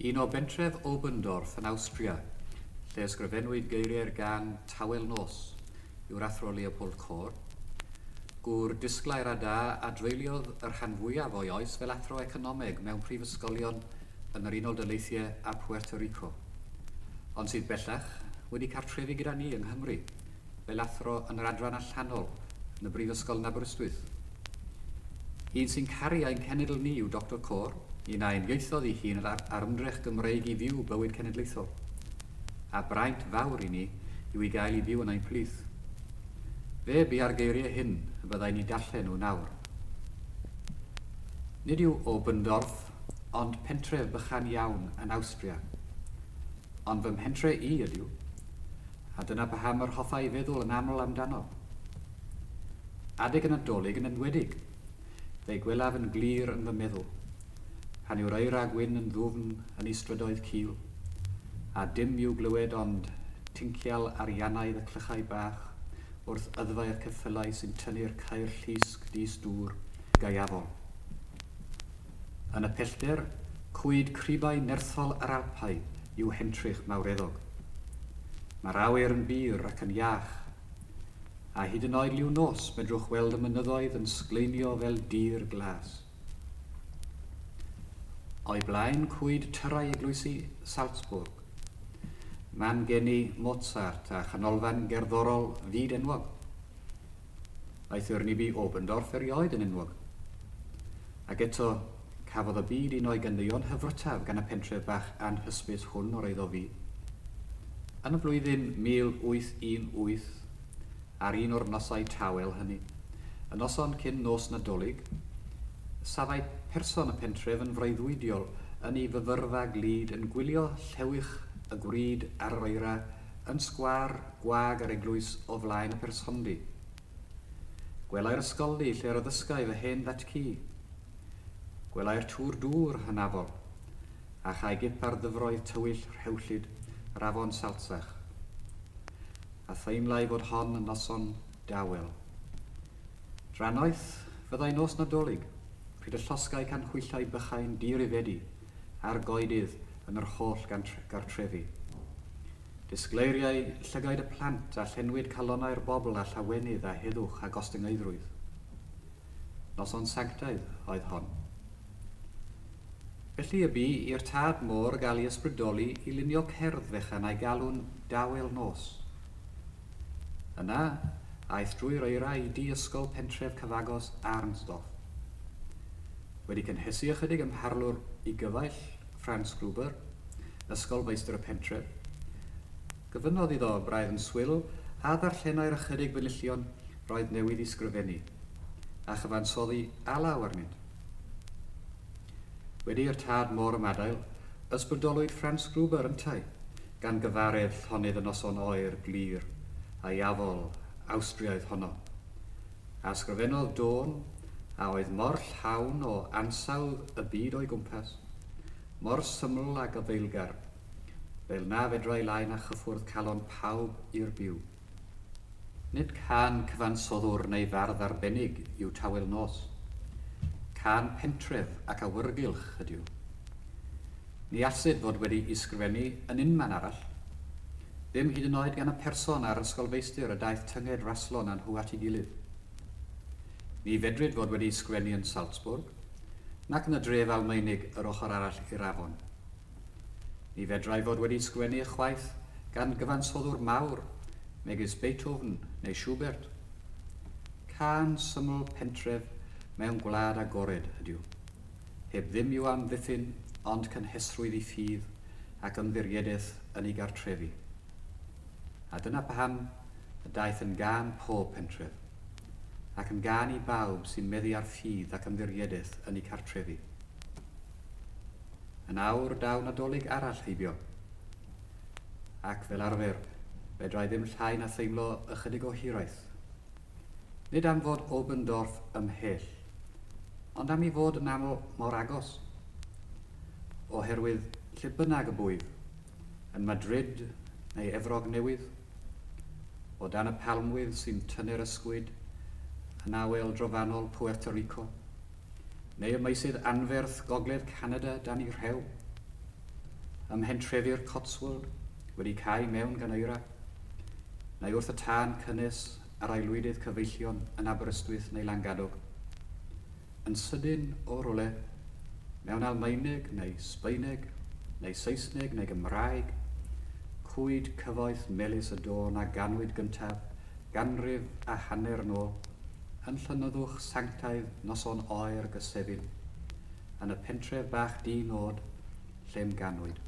Un o bentref Oberndorf yn Awstria, lle ysgrifennwyd geiriau'r gân Tawel Nos, yw'r Athro Leopold Kohr, gŵr disglair a da a dreuliodd y rhan fwyaf o'i oes fel athro economeg mewn prifysgolion yn yr Unol Daleithiau a Puerto Rico, ond sydd bellach wedi cartrefu gyda ni yng Nghymru fel athro yn yr adran allanol yn y Brifysgol yn Aberystwyth. Un sy'n caru ein cenedl ni yw Doctor Kohr, un a uniaethodd ei hun ar ymdrech Gymreig i fyw bywyd cenedlaethol. A braint fawr i ni yw ei gael i fyw yn ein plith. Fe bia'r geiriau hyn y byddai ni darllen nhw nawr. Nid yw Oberndorf ond pentref bychan iawn yn Awstria. Ond fy mhentre i ydyw, a dyna paham yr hoffai feddwl yn aml amdano. Adeg y Nadolig yn enwedig, fe'i gwelaf yn glir yn fy meddwl, pan yw'r eira gwyn yn ddwfn yn ei strydoedd cul, a dim i'w glywed ond tincial ariannaidd y clychau bach wrth yddfau'r ceffylau sy'n tynnu'r ceir llusg di-stŵr gaeafol. Yn y pellter, cwyd cribau nerthol yr Alpau yw hentrych mawreddog. Mae'r awyr yn bur ac yn iach, a hyd yn oed liw nos medrwch weld y mynyddoedd yn sgleinio fel dir glas. O'i blaen cwyd tyrau eglwysi Salzburg, man geni Mozart a chanolfan gerddorol fyd enwog. Aeth yr ni bu Oberndorf erioed yn enwog. Ac eto, cafodd y byd un o'i ganeuon hyfrytaf gan y pentref bach anhysbys hwn o'r eiddo fi. Yn y flwyddyn 1818, ar un o'r nosau tawel hynny, y noson cyn nos Nadolig, safai person y pentref yn freuddwydiol yn ei fyfyrfa glyd yn gwylio llewych y gwryd ar yr eira yn sgwâr gwag yr eglwys o flaen y persondy. Gwelai'r ysgoldy lle'r addysgai fy hen ddatcu. Gwelai'r tŵr dŵr hynafol, a chai gip ar ddyfroedd tywyll rhewllyd yr afon Salzach, a theimlai fod hon yn noson dawel. Drannoeth fyddai nos Nadolig, pryd y llosgai canhwyllau bychain dirifedi ar goedydd yn yr holl gartrefi. Disgleiriai llygaid y plant a llenwid calonnau'r bobl â llawenydd a heddwch a gostyngeiddrwydd. Noson sanctaidd oedd hon. Felly y bu i'r tad môr gael ei ysbrydoli i lunio cerdd fechan a'i galw'n Dawel Nos. Yna, aeth drwy'r eira i dŷ ysgol pentref cyfagos Arnsdorf. Wedi cynhesu ychydig ym mharlwr ei gyfaill, Franz Gruber, ysgolfeistr y pentref, gofynnodd iddo braidd yn swil a ddarllenai'r ychydig benillion roedd newydd i sgrifennu, a chyfansoddi alaw arnynt. Wedi i'r tad môr ymadael, ysbrydolwyd Franz Gruber yntau gan gyfaredd llonydd y noson oer glir aeafol Awstriaidd honno, a ysgrifennodd dôn a oedd mor llawn o ansawdd y byd o'i gwmpas, mor syml a gafaelgar, fel na fedrai lai na chyffwrdd calon pawb i'r byw. Nid cân cyfansoddwr neu fardd arbennig yw Tawel Nos. Cân pentref ac awyrgylch ydyw. Ni allsid fod wedi ysgrifennu yn unman arall. Ddim hyd yn oed gan y person a'r ysgolfeistr y daeth tynged raslon â nhw at ei gilydd. Ni fedrid fod wedi ysgrifennu yn Salzburg, nac yn y dref Almaenig yr ochr arall i'r afon. Ni fedrai fod wedi ysgrifennu ychwaith gan gyfansoddwr mawr, megis Beethoven neu Schubert. Cân syml pentref mewn gwlad agored ydyw, heb ddim i'w amddiffyn ond cynhesrwydd ei ffydd ac ymddiriedaeth yn ei gartrefi. A dyna paham y daeth yn gân pob pentref, ac yn gân i bawb sy'n meddu ar ffydd ac ymddiriedaeth yn eu cartrefi. Yn awr daw Nadolig arall heibio, ac fel arfer, fedrai ddim llai na theimlo ychydig o hiraeth. Nid am fod Oberndorf ymhell, ond am ei fod yn aml mor agos. Oherwydd lle bynnag y bwyf, yn Madrid neu Efrog Newydd, o dan y palmwydd sy'n tynnu'r ysgwyd yn awel drofannol Puerto Rico, neu y meysydd anferth gogledd Canada dan ei rhew. ym mhentrefi'r Cotswold wedi cau mewn gan eira, neu wrth y tân cynnes ar aelwydydd cyfeillion yn Aberystwyth neu Langadog. Yn sydyn o rywle, mewn Almaeneg neu Sbaeneg neu Saesneg neu Gymraeg, cwyd cyfoeth melys y dôn a ganwyd gyntaf ganrif a hanner yn ôl, yn llonyddwch sanctaidd noson oer Gysefin, yn y pentref bach di-nod lle'm ganwyd.